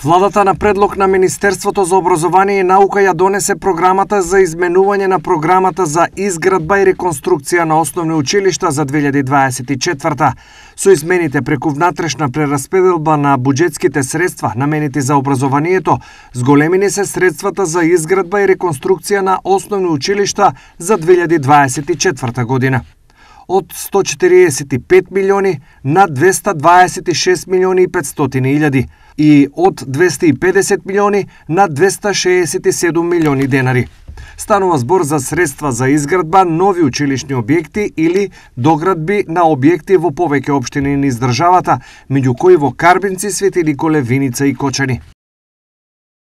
Владата на предлог на Министерството за образование и наука ја донесе програмата за изменување на програмата за изградба и реконструкција на основни училишта за 2024. Со измените преку внатрешна прераспределба на буџетските средства наменети за образованието, зголемени се средствата за изградба и реконструкција на основни училишта за 2024 година. Од 145 милиони на 226 милиони и 500 илјади и од 250 милиони на 267 милиони денари. Станува збор за средства за изградба нови училишни објекти или доградби на објекти во повеќе општини низ државата, меѓу кои во Карбинци, Свети Николе, Виница и Кочани.